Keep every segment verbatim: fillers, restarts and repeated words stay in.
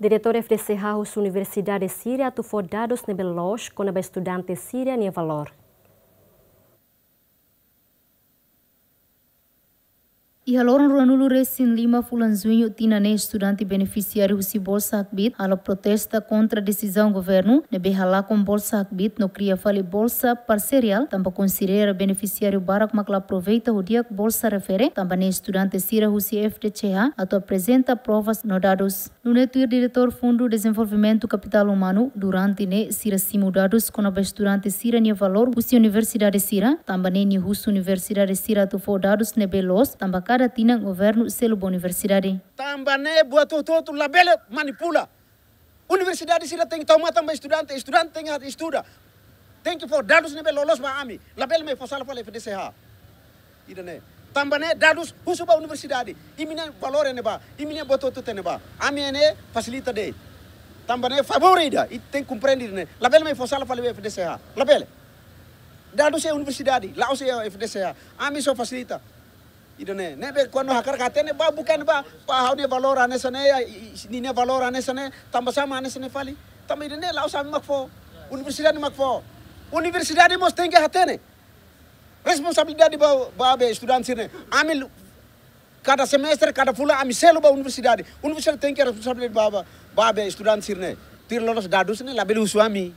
Diretór F D C H husi universidade sira atu fó dadus ne'ebé loos kona-ba estudante sira-nia valór. Iha loron ruanulu resin lima fulan Juñu tinan ne'e, estudante benefisiáriu husi Bolsa Hakbiit halo protesta kontra desizaun governu ne'ebé halakon Bolsa Hakbiit no kria fali bolsa parseriál, tanba konsidera benefisiáriu barak mak la aproveita ho di'ak bolsa refere, tanba ne'e estudante sira husi F D C H atu aprezenta provas no dadus. Nune'e tuir Diretór Fundu Dezenvolvimentu Kapitál Umanu, durante ne'e sira simu dadus kona-ba estudante sira-nia valór husi universidade sira, tanba ne'e nia husu universidade sira atu fó dadus ne'ebé loos, tanba kada tinan governu selu ba universidade. Tanba ne'e buat hotu-hotu labele manipula. Universidade sira tenke tau matan ba estudante, estudante tenke estuda. Tenke fó dadus ne'ebé loloos ba ami. Labele mai fó sala fali F D C H. Ida-ne'e. Tanba ne'e dadus husu ba universidade. Imi-nia valór ne'ebá, imi-nia buat hotu-hotu ne'ebá. Ami ne'e fasilita de'it. Tanba ne'e favór ida, ita tenke komprende ida-ne'e. Labele mai fó sala fali F D C H. Labele. Dadus iha universidade, la'ós iha F D C H. Ami só fasilita. Ida-ne'e, ne'ebé kuandu hakarak hatene ba buka ne'ebá, ba ha'u-nia valór hanesan ne'e, i, i, ninia valór hanesan ne'e, tanba sá mak hanesan ne'e fali. Tanba ida-ne'e la'ós ami mak fó. Universidade mak fó. Universidade mós tenke hatene. Responsabilidade ba, ba, ba estudante sira-ne'e. Ami lu-, kada semestre, kada fulan, ami selu ba universidade. Universidade tenke responsabilidade ba, ba, ba, ba estudante sira-ne'e. Tuir loloos dadus ne'e, labele husu ami.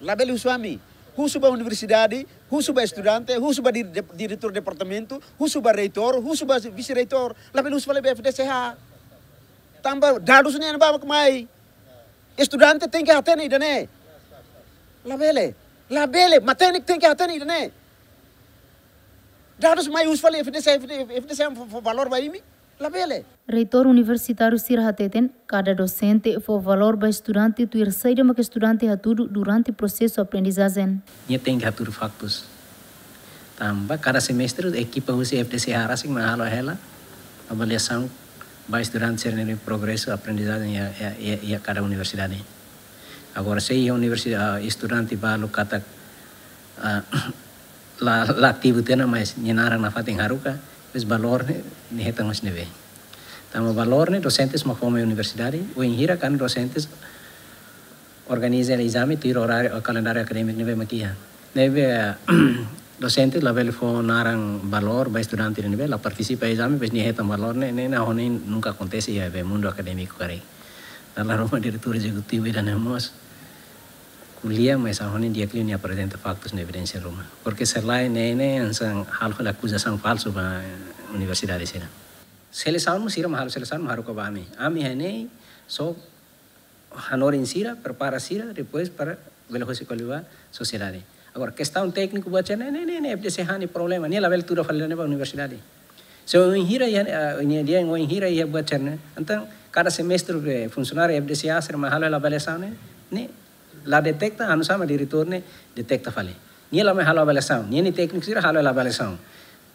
Labele husu ami. Husu ba universidade, husu ba estudante, husu ba dir-, de-, diretór departamentu, husu ba reitór, husu ba vise-reitór. Labele husu fali ba F D C H. Tanba dadus ne'e ba mai. Estudante tenke hatene ida-ne'e. Labele. Labele. Matenek tenke hatene ida-ne'e. Dadus mai husu fali F D C H, F D C H fó, fó valór ba imi. Labele. Reitór universitáriu sira hateten, kada dosente fó valór ba estudante tuir saida mak estudante hatudu durante prosesu aprendizajen. Nia tenke hatudu faktus. Tanba kada semestre ekipa husi F D C H rasik mak halo hela avaliasaun ba estudante sira-nia progresu aprendizajen iha, iha, iha, iha kada universidade. Agora, se iha universidade, ah, estudante balu katak, ah, la, la ativu tiha ona, mas nia naran nafatin haruka, depois valór ne'e, nia hetan mós ne'ebé. Tanba valór ne'e, dosentes mak fó mai universidade, wainhira kan dosentes organiza ezame tuir oráriu, kalendáriu akadémiku ne'ebé mak iha. Ne'ebé, dosente labele fó naran valór ba estudante ne'ebé la partisipa ezame, depois nia hetan valór ne'e, ne'e, ne'e, ne'e nunka akontese iha be mundu akadémiku karik. Dala ruma diretór ezekutivu ida-ne'e mós ko'alia, mas ha'u hanoin di'ak liu nia aprezenta faktus no evidénsia ruma. Porke se lae ne'e, ne'e hanesan halo fali akuzasaun falsu ba universidade sira. Selesaun mós sira mak halo selesaun mak haruka ba ami. Ami hanoin só hanorin sira, prepara sira, depois para bele hosi ko'alia ba sosiedade. Agora, kestaun tékniku buat sira-ne'e, ne'e, ne'e, ne'e, F D C H nia problema, nia labele tuda fali ne'e ba universidade. Se wainhira iha, ah, nia dehan wainhira iha buat sira-ne'e, entaun, kada semestre be funsionáriu F D C H sira mak halo avaliasaun ne'e, ne'e la deteta, anu sama diretór ne'e deteta fali. Nia la mai halo avaliasaun, nia nia tékniku sira halo avaliasaun.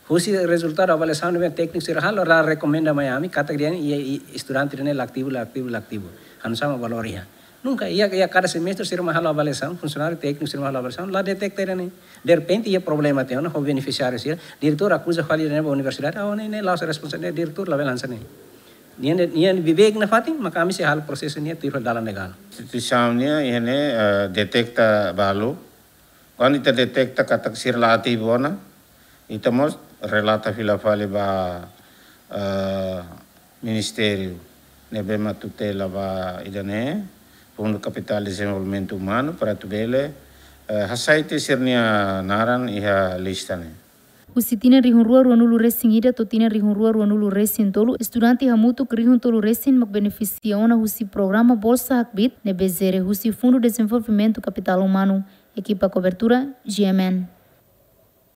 Husi rezultadu avaliasaun ne'ebé tékniku sira halo, la rekomenda mai ami, katak dehan, i, i, estudante ne'e la ativu, la ativu, la ativu. Anu sama valór iha. Nunka, iha, iha kada semestre sira mak halo avaliasaun, funsionáriu tékniku sira mak halo avaliasaun, la deteta ida-ne'e. Derrepente, iha problema tiha ona, ho benefisiáriu sira, diretór akuza fali ida-ne'e ba universidade, ah, ne'e, ne'e, la'ós responsabilidade diretór, labele hanesan ne'e. Nia, nia, nia beibeik nafatin, maka ami sei halo prosesu nia tuir dalan legál. Instituisaun nia, iha ne'e, eh, deteta balu, kuandu ita deteta katak sira la ativu ona, ita mós relata fila fali ba, eh, ministériu ne'ebé mak tutela ba ida-ne'e, Fundu Kapitál Dezenvolvimentu Umanu, para atu bele, eh, hasai tiha sira-nia naran iha lista ne'e. Husi tinan rihun rua ruanulu resin ida to'o tinan rihun rua ruanulu resin tolu, estudante hamutuk rihun tolu resin mak benefisia ona husi programa Bolsa Hakbiit ne'ebé jere husi Fundu Dezenvolvimentu Kapitál Umanu. Ekipa kobertura, G M N.